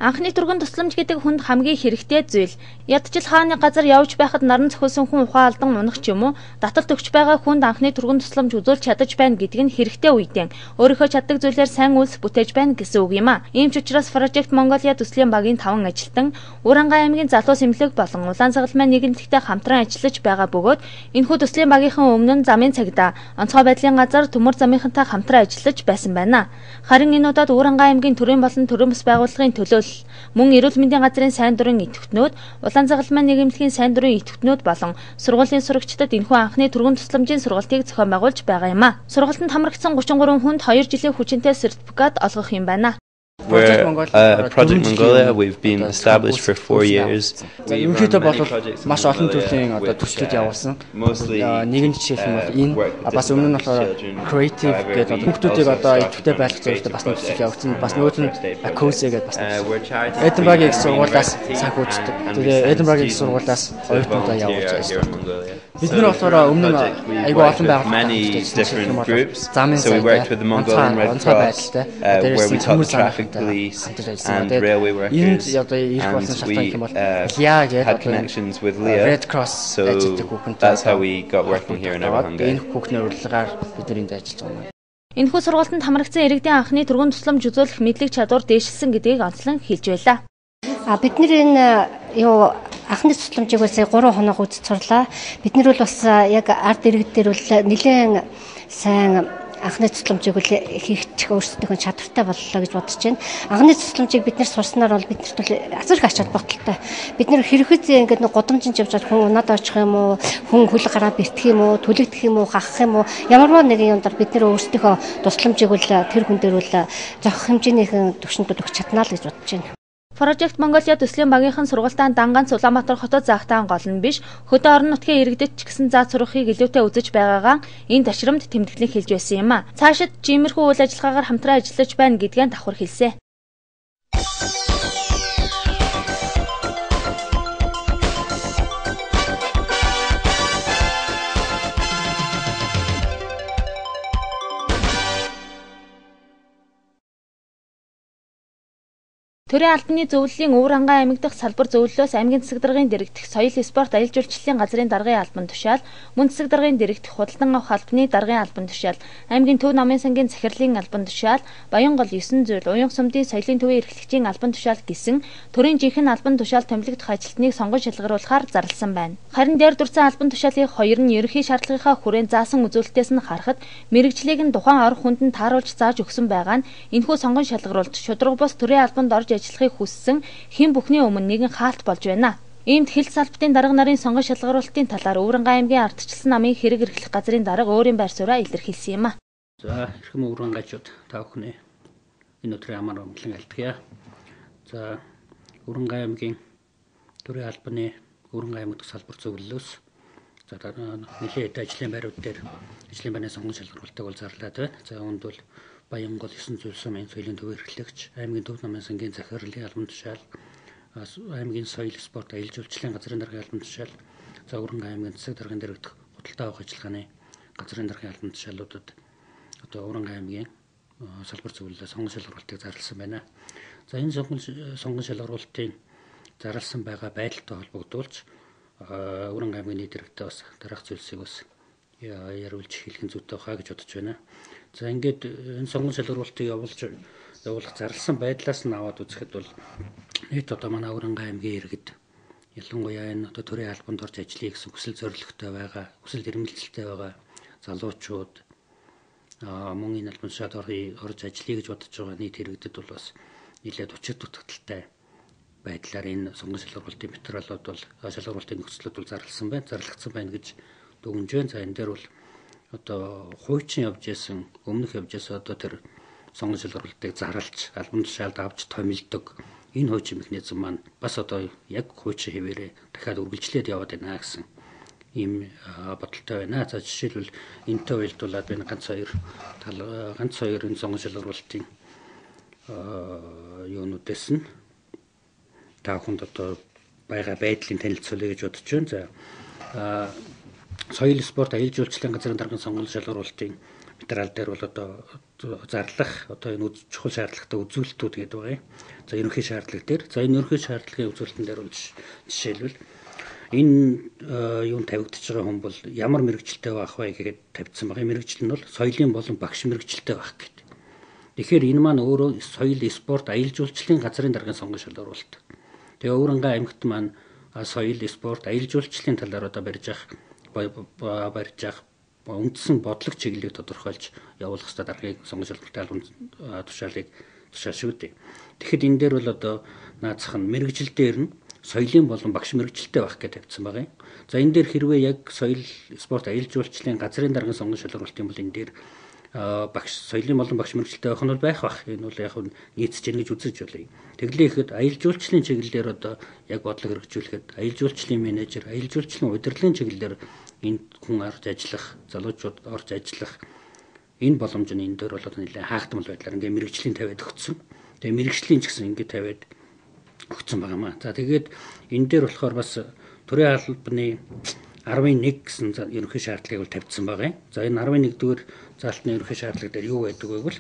Анхны түргэн тусламж гэдэг хүнд хамгийн хэрэгтэй зүйл. Ядчил хааны газар явж байхад наран цохилсон хүн ухаан алдан унах ч юм уу, таталт өгч байгаа хүнд анхны түргэн тусламж үзүүлж чадаж байна гэдг нь хэрэгтэй үедээ өөрийнхөө чаддаг зүйлээр сайн үйлс бүтээж байна гэсэн үг юм а. Ийм ч учраас Project Mongolia төслийн багийн 5 ажилтан Уранга аймгийн залуу сэмлэг болон Улаан Цагалмайн нийгэмлэгтэй хамтран ажиллаж байгаа бөгөөд энэхүү төслийн багийнхан өмнө нь замын цагдаа, онцгой байдлын газар төмөр замынхантай хамтран ажиллаж байсан байна. Харин энэ удаад Уранга аймгийн төрийн болон төрийн бас байгууллагын төлөөлөл мөн эрүүл мэндийн газрын сайн дурын идэвхтнүүд, Улаан Цагалмайн нийгэмлэгийн сайн дурын идэвхтнүүд болон сургуулийн сурагчдад энэхүү анхны түргэн тусламжийн сургалтыг зохион байгуулж байгаа юм а. Сургалтанд хамрагдсан 33 хүнд 2 жилийн хүчинтэй сертификат олгох юм байна. Project Mongolia, we've been established for 4 years. Ерөнхийдөө бол маш олон төрлийн төслүүд явуулсан. Нэгэн жишээлх нь бол энэ бас өмнө нь болохоор creative гэдэг хүмүүсийг идэвхтэй байлгах зорилготой бас нэг төсөл явуулсан. Бас нөгөөд нь Akose гэдэг бас Edinburgh-ийн их сургуулиас санхүүждэг. Тэгээ Edinburgh-ийн их сургуулиас оюутнуудаа явуулж байгаа. Бид нар болохоор өмнө нь айгүй олон байгууллагууд замын So we worked with the Mongolian Red Cross, where we taught the traffic police and railway workers, and we had connections with Leah, Red Cross. So that's how we got working here in Everhangay. Энэ хүүхний урилгаар бид нар энд ажиллаж байгаа юм. Энэхүү сургалтанд хамрагдсан иргэдийн анхны түргэн тусламж үзүүлэх мэдлэг чадвар дээшилсэн гэдгийг онцлон хэлж байлаа. Бид нар энэ анхны тусламжийг бол сая 3 хоног үзэж сурлаа. Бид нар бол бас яг ард иргэдээр бол нэлээд сайн анхны тусламжийг бол хийх өөрсдийнхөө чадвартай боллоо гэж бодож байна. Анхны тусламжийг бид нар сурснаар бол биднэрт бол азар их ач холбогдолтой. Бид нар хэрвээ ингээд нэг гудамжинд явж хүн унаад очих юм уу, хүн хөл гараа бэртэх юм уу, түлэгдэх юм уу, хахах юм уу, ямарваа нэгэн юмдаар бид нар өөрсдийнхөө тусламжийг бол тэр хүн дээр бол зохих хэмжээнийхэн түвшинд өгч чаднаа л гэж бодож байна. Project Mongolia төслийн багийнхан сургалтаан Данганц Улаанбаатар хотод заахтаан гол нь биш, хөдөө орон нутгийн иргэдэд ч гэсэн заа сурахыг илүүтэй үзэж байгаагаа энэ ташрамд тэмдэглэн хэлж байсан юм а. Цаашид жимэрхүү үйл ажиллагаагаар хамтран ажиллаж байна гэдгээ давхар хэлсэн. Төрийн албаны зөвлөлийн Уранга аймаг дахь салбар зөвлөлөөс аймгийн засаг даргын дэрэгдэх соёл спорт аялал жуулчлалын газрын даргын албан тушаал, мөн засаг даргын дэрэгдэх худалдан авах албаны даргын албан тушаал, аймгийн төв намын сангийн захирлын албан тушаал, Баянгол 9 зүйл, Уян сумдын соёлын төвийн эрхлэгчийн албан тушаал гэсэн төрийн жинхэнэ албан тушаал томилогдох ажилтныг сонгон шалгаруулахаар зарласан байна. Харин дээр дурсан албан тушаалын хоёр нь ерөнхий шаардлагынхаа хүрээнд заасан үзүүлэлтээс нь харахад мэрэгжлийг нь тухайн арга хүнд нь тааруулж зааж өгсөн байгаа нь энэхүү сонгон шалгаруулалт шудраг бус төрийн албанд орж ажиллахыг хүссэн хэн бүхний өмнө нэгэн хаалт болж байна. Иймд хил салбартын дарга нарын сонгон шалгаруулалтын талаар Уранга аймгийн ардчилсан намын хэрэг эрхлэх газрын дарга өөрийн байр сууриа илэрхийлсэн юм а. За эрхэм Урангачууд та бүхний энэ өдрийн амар амгалан альтгая. За Уранга аймгийн төрийн албаны Уранга аймаг дахь салбар зөвлөлөөс за нэлээд ажлын байрууд дээр ажлын байрны сонгон шалгаруулалтыг бол зарлаад байна. За үүнд бол Баянгол 9 зүйл сумын соёлын төв эрхлэгч, аймгийн төв намын сангийн захирлын албан тушаал, аймгийн соёл спорт аялал жуулчлалын газрын даргын албан тушаал, за Уранга аймгийн засаг даргын дэргэдэх худалдаа авах ажиллагааны газрын даргын албан тушаалуудад одоо Уранга аймгийн салбар зөвлөлөө сонгон шалгаруулалтыг зарласан байна. За энэ сонгон шалгаруулалтын зарласан байгаа байдалтай холбогдуулж Уранга аймгийн нийт дэргэдээ бас дараах зүйлсийг бас яруулж хэлэх нь зүйтэй хаа гэж бодож байна. За ингээд энэ сонгон шалгаруулалтыг явуулах зарласан байдлаас нь аваад үзэхэд бол нийт одоо манай Уранга аймгийн иргэд ялангуяа энэ одоо төрийн албанд орж ажиллая гэсэн хүсэл зорилготой байгаа, хүсэл эрмэлзэлтэй байгаа залуучууд мөн энэ албан тушаалд орж ажиллая гэж бодож байгаа нийт иргэдэд бол бас нэлээд учир дутагдaltaй байдлаар энэ сонгон шалгаруулалтын материалууд бол шалгаруулалтын нөхцлүүд бол зарлагдсан байна гэж дүгнж байна. За энэ дээр бол одоо хуучин явж исэн өмнөх явж исэн одоо тэр сонгон шалгаруулалтыг зарлж албан тушаалд авч томилдог энэ хуучин механизм маань бас одоо яг хуучин хэвээрээ дахиад үргэлжлээд яваад байна гэсэн ийм бодолтой байна. За жишээлбэл энэтэй уялдуулаад би ганц хоёр энэ сонгон шалгаруулалтын юунуудээс нь та бүхэнд одоо байгаа байдлын танилцуулъя гэж бодож байна. За соёл спорт аялал жуулчлалын газрын даргын сонгон шалгаруулалтын материал дээр бол одоо зарлах одоо энэ чухал шаардлагатай үзүүлэлтүүд гэдэг байгаа юм. За ерөнхий шаардлага дээр. За энэ ерөнхий шаардлагын үзүүлэлтэн дээр бол жишээлбэл энэ юунд тавигдчихж байгаа хүн бол ямар мэрэгчлэлтэй байх вэ гэгээд тавьсан байгаа. Мэрэгжил нь бол соёлын болон багш мэрэгчлэлтэй байх гэдэг. Тэгэхээр энэ маань өөрөө соёл, спорт, аялал жуулчлалын газрын даргын сонгон шалгуулалт. Тэгээ Өвөрангай аймагт маань соёл, спорт, аялал жуулчлалын талаар одоо барьж явах үндсэн бодлого чиглэлийг тодорхойлж явуулах хэрэгтэй даргын сонгон шалгалтын албан тушаалыг тушаашгүй. Тэгэхэд энэ дээр бол одоо наацх нь мэрэгжил дээр нь соёлын болон багш мэрэгчлэлтэй байх гэж тавьсан байгаа юм. За энэ дээр хэрвээ яг соёл, спорт, аялал жуулчлалын газрын даргын сонгон шалгуулалтын бол энэ дээр багш соёлын болон багш мэрэгчлэлтэй байх нь бол байх бах. Энэ бол яг нийцэж гэнэ гэж үзэж байна. Тэглээхэд аялал жуулчлалын чиглэлээр одоо яг бодлого хэрэгжүүлэхэд аялал жуулчлалын менежер, аялал жуулчлалын удирдлагын чиглэлээр энд хүн орж ажиллах, залуучууд орж ажиллах энэ боломж нь энэ дээр бол нэлээд хаагдмал байдлаар ингээ мэрэгжлийн тавиад өгсөн. Тэгээ мэрэгжлийн ч гэсэн ингээ тавиад өгсөн байгаа маа. За тэгээд энэ дээр болохоор бас төрийн албаны 11 гэсэн ерөнхий шаардлагыг бол тавьсан байгаа юм. За энэ 11-р заалтны ерөнхий шаардлага дээр юу байдаг вэ гэвэл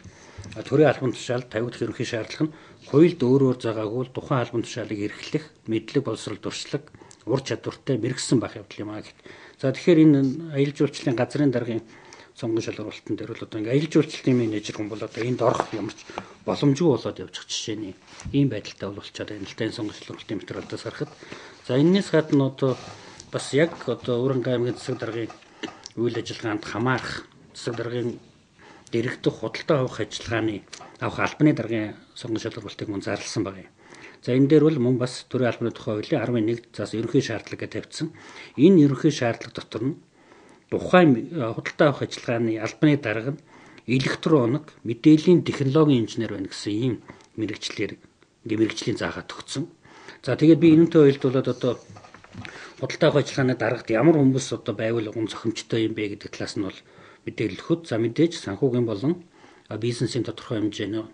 төрийн албан тушаалд тавигдах ерөнхий шаардлага нь хуульд өөрөөр заагаагүй тухайн албан тушаалыг эрхлэх, мэдлэг боловсрол туршлага, ур чадвартай мэрэгсэн байх явдал юм аа гэт. За тэгэхээр энэ аялал жуулчлалын газрын даргын сонгон шалгуулалтын дээр бол одоо ингээ аялал жуулчлалын менежер хүн бол одоо энд орох ямар ч боломжгүй болоод явчих жишээний ийм байдалтай болчиход байна л да энэ сонгон шалгуулалтын материалдаас харахад. За энэс гадна одоо бас яг одоо Өвөрангай аймгийн засаг даргын үйл ажиллагаанд хамаарах засаг даргын дэрэгдэх худалдаа авах ажиллагааны авах албаны даргын сонгон шалгуулалтыг мөн зарласан байна. За энэ дээр бол мөн бас төрийн албаны тухай хуулийн 11 заас ерөнхий шаардлага гэж тавьсан. Энэ ерөнхий шаардлага дотор нь тухайн худалдаа авах ажиллагааны албаны дарга нь электроник мэдээллийн технологийн инженер байна гэсэн ийм мэрэгчлэр ингээ мэрэгжлийн заагаад өгсөн. За тэгээд би энэнтэй уялдуулаад одоо худалдаа авах ажиллагааны даргад ямар хүмүүс одоо байвал гон зохимжтой юм бэ гэдэг талаас нь бол мэдээлэл өгөхөд за мэдээж санхүүгийн болон бизнесийн тодорхой хэмжээний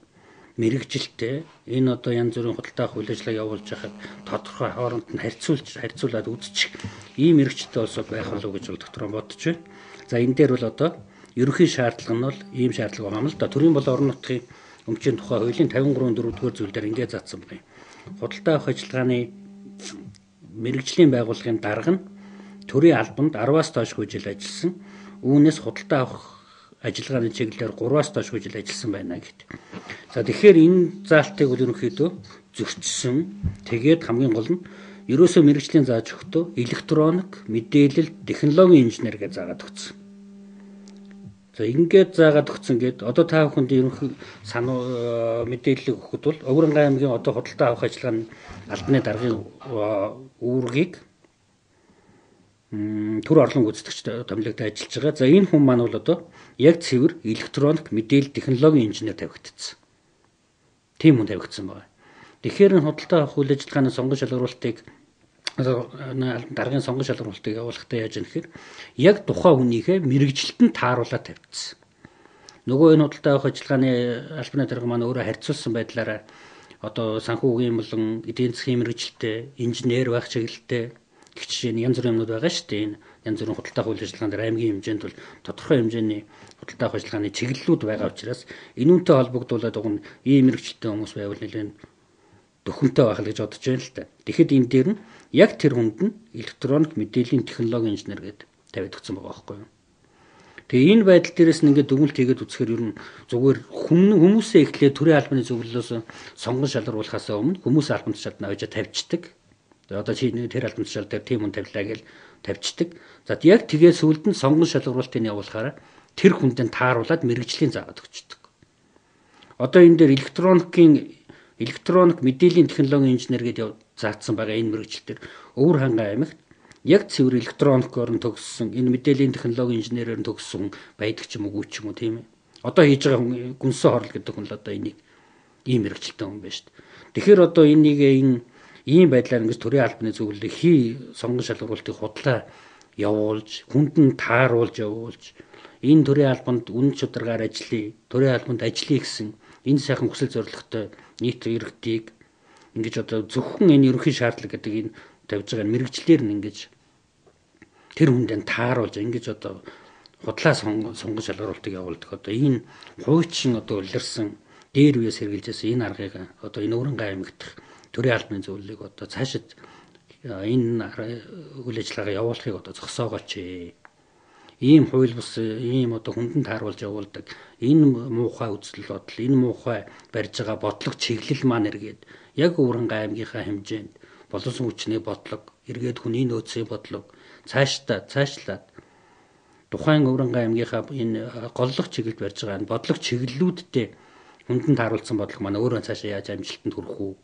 мэрэгжилтэй энэ одоо янз бүрийн худалдаа авах үйл ажиллагаа явуулж байхад тодорхой хооронд нь харьцуулаад үзчих ийм мэрэгчлээ улсууд байх болов гэж бол дотроо бодож байна. За энэ дээр бол одоо ерөнхий шаардлага нь бол ийм шаардлага байгаа юм л да. Төрийн болон орон нутгийн өмчийн тухай хуулийн 53-4-р зүйл дээр ингээд заасан байна. Худалдаа авах ажиллагааны мэрэгжлийн байгууллагын дарга нь төрийн албанд 10-аас доошгүй жил ажилласан. Үүнээс худалдаа авах ажиллагааны чиглэлээр 3-аас доошгүй жил ажилласан байна гэдэг. За тэгэхээр энэ заалтыг бол ерөнхийдөө зөрчсөн. Тэгээд хамгийн гол нь ерөөсөө мэрэгжлийн зааж өгөхдөө электроник, мэдээлэл, технологийн инженер гэж заагаад өгсөн. За ингээд заагаад өгсөн гээд одоо та бүхэнд ерөнхий мэдээлэл өгөхөд бол Өвөрангай аймгийн одоо худалдаа авах ажиллагааны албаны даргын үүргийг төр орлон гүйцэтгэгч томилогдож ажиллаж байгаа. За энэ хүн маань бол одоо яг цэвэр электроник, мэдээлэл, технологийн инженер тавигдсан. Тийм хүн тавигдсан байна. Тэгэхээр энэ худалдаа авах үйл ажиллагааны сонгон шалгуулалтыг даргын сонгон шалгуулалтыг явуулахдаа яаж юм гэхээр яг тухайн хүнийхээ мэрэгжилтэнд нь тааруулаад тавьчихсан. Нөгөө энэ худалдаа авах ажиллагааны албаны дарга маань өөрөө харьцуулсан байдлаараа одоо санхүүгийн болон эдийн засгийн мэрэгжилтэй, инженер байх чиглэлтэй гэх жишээ нь янз бүрийн юмнууд байгаа шүү дээ. Энэ янз бүрийн худалдаа авах үйл ажиллагаанд аймгийн хэмжээнд бол тодорхой хэмжээний худалдаа авах ажиллагааны чиглэлүүд байгаа учраас энүүнтэй холбогдуулаад уг нь ийм мэрэгжилтэй хүмүүс байвал нэлээд дөхөнтэй байх л гэж бодож байна л та. Тэгэхэд энэ дээр нь яг тэр хүнд нь электроник мэдээллийн технологийн инженер гэдэг тавиад өгсөн байгаа байхгүй юу. Тэгээ энэ байдал дээрээс нь ингээд дүгнэлт хийгээд үзэхээр ер нь зүгээр хүмүүсээ эхлээд төрийн албаны зөвлөлөөс сонгон шалгаруулахаас өмнө хүмүүс албан тушаалд навж тавьчихдаг. Одоо чи тэр албан тушаал дээр тийм хүн тавилаа гэж тавьчихдаг. За яг тэгээ сүүлд нь сонгон шалгаруулалтыг явуулахаараа тэр хүндээ тааруулаад мэрэгжлийн заагаад өгчдөг. Одоо энэ дээр электроник мэдээллийн технологийн инженер гэдэг заагдсан байгаа энэ мэрэгжил дээр Өвөрхангай аймагт яг цэвэр электроникоор нь төгссөн энэ мэдээллийн технологийн инженерээр нь төгссөн байдаг ч юм уу ч юм уу тийм ээ. Одоо хийж байгаа хүн гүнсэн хорл гэдэг хүн л одоо энийг ийм мэрэгжилтэй хүн байна шүү дээ. Тэгэхээр одоо энийг ийм байдлаар ингэж төрийн албаны зөвлөлийг сонгон шалгуулалтыг худлаа явуулж, хүнд нь тааруулж явуулж, энэ төрийн албанд үнэн чударгаар ажиллая, төрийн албанд ажиллая гэсэн энэ сайхан хүсэл зорилготой нийт иргэдийг ингэж одоо зөвхөн энэ ерөнхий шаардлага гэдэг энэ тавьж байгаа мэрэгчлэр нь ингэж тэр хүндээ тааруулж ингэж одоо худлаа сонгон шалгаруултыг явуулдаг. Одоо энэ хуйчин одоо улирсан дээр үеэс хэрэгжилжсэн энэ аргыг одоо энэ Өвөрнгай аймагт төрийн албаны зөвлөлийг одоо цаашид энэ үйл ажиллагаа явуулахыг одоо зогсоогооч. Ийм хууль бус ийм одоо хүндэн тааруулж явуулдаг энэ муухай үзэл бодол, энэ муухай барьж байгаа бодлого чиглэл маань эргээд яг Өвөрнгай аймгийнхаа хэмжээнд боловсон хүчний бодлого, эргээд хүний нөөцийн бодлого цаашлаад тухайн Өвөрнгай аймгийнхаа энэ голлох чиглэлд барьж байгаа энэ бодлого чиглэлүүдтэй хүндэн тааруулсан бодлого маань өөрөө цаашаа яаж амжилтанд хүрэх үү?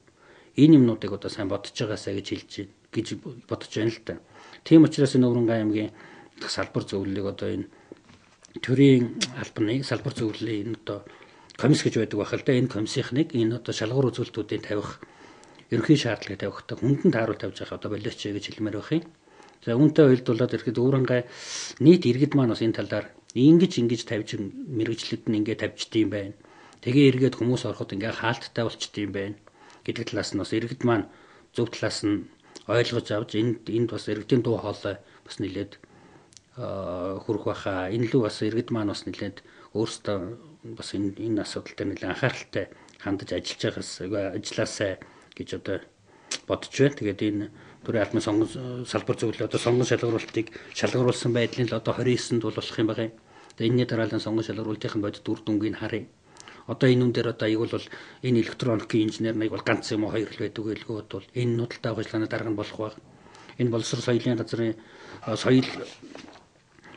Энэ юмнуудыг одоо сайн бодож байгаасаа гэж бодож байна л да. Тийм учраас энэ Өвөрнгай аймгийн салбар зөвлөлийг одоо энэ төрийн албаны салбар зөвлөлийн одоо комисс гэж байдаг байх л да. Энэ комиссийнхныг энэ одоо шалгуур үзүүлэлтүүдийн тавих ерөнхий шаардлагыг тавихтаа хүндэн тааруул тавьж байгаа одоо болооч гэж хэлмээр байх юм. За үүнтэй уялдуулаад ирэхэд Өвөрнгай нийт иргэд маань бас энэ талаар ингэж тавьж мэрэгчлүүд нь ингэ тавьчдığım байна. Тэгээ эргээд хүмүүс ороход ингээ хаалттай болчдığım байна гэдэг талаас нь бас иргэд маань зөв талаас нь ойлгож авч энд бас иргэдийн дуу хоолой бас нэлээд хүрэх байхаа. Энэ лүү бас иргэд маань бас нэлээд өөрсдөө бас энэ асуудал дээр нэлээд анхааралтай хандаж ажилласаа гэж одоо бодож байна. Тэгээд энэ төрийн албаны сонгон салбар зөвлөлөө одоо сонгон шалгаруулсан байдлын л одоо 29-нд бол болох юм байна. Тэгээд энэний дараалал сонгон шалгаруулалтын бодит үр дүнгийг харъя. Одоо энэ үн дээр одоо ийг бол энэ электроникийн инженер нэг бол ганц юм уу хоёр л байдаг гэлгүүд бол энэ нүүдэлтэй ажиллагааны дарга нь болох байх. Энэ боловсрол соёлын газрын соёл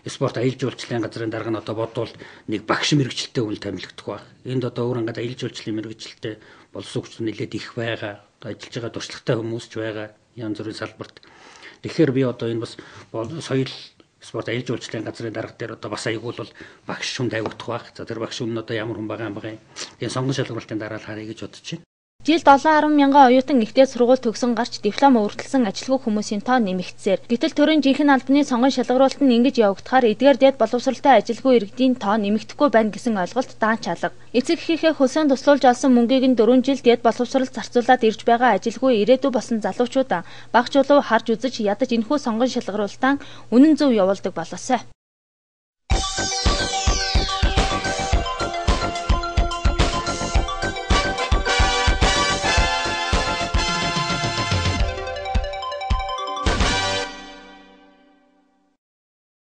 спорт аялал жуулчлалын газрын дарга нь одоо бодвол нэг багш мэрэгчлэлтэй үйл томилогдох байх. Энд одоо Өвөрнгайд аялал жуулчлалын мэрэгчлэлтэй боловсон хүч нэлээд их байгаа. Одоо ажиллаж байгаа туршлагатай хүмүүс ч байгаа. Янз бүрийн салбарт. Тэгэхээр би одоо энэ бас соёл спорт аялал жуулчлалын газрын дарга дээр одоо бас аягуул бол багш хүн тавигдах байх. За тэр багш хүн нь одоо ямар хүн байгаа юм бэ? Тэгээ сонгон шалгуулалтын дараа л харъя гэж бодож байна. Жилд 7-10 мянган оюутан ихтэй сургууль төгсөн гарч диплом өргөдөлсөн ажилгүй хүмүүсийн тоо нэмэгдсээр. Гэтэл төрийн жинхэнэ албаны сонгон шалгаруулалт нь ингэж явагдахаар эдгээр дэд боловсралтай ажилгүй иргэдийн тоо нэмэгдэхгүй байна гэсэн ойлголт даанч алга. Эцэг эхийнхээ хөсөөнд туслуулж олсон мөнгийг нь 4 жил дэд боловсралд зарцуулаад ирж байгаа ажилгүй ирээдүй болсон залуучуудаа багч улуу харж үзэж ядаж энэхүү сонгон шалгаруулалтаа үнэн зөв явуулдаг болоосай.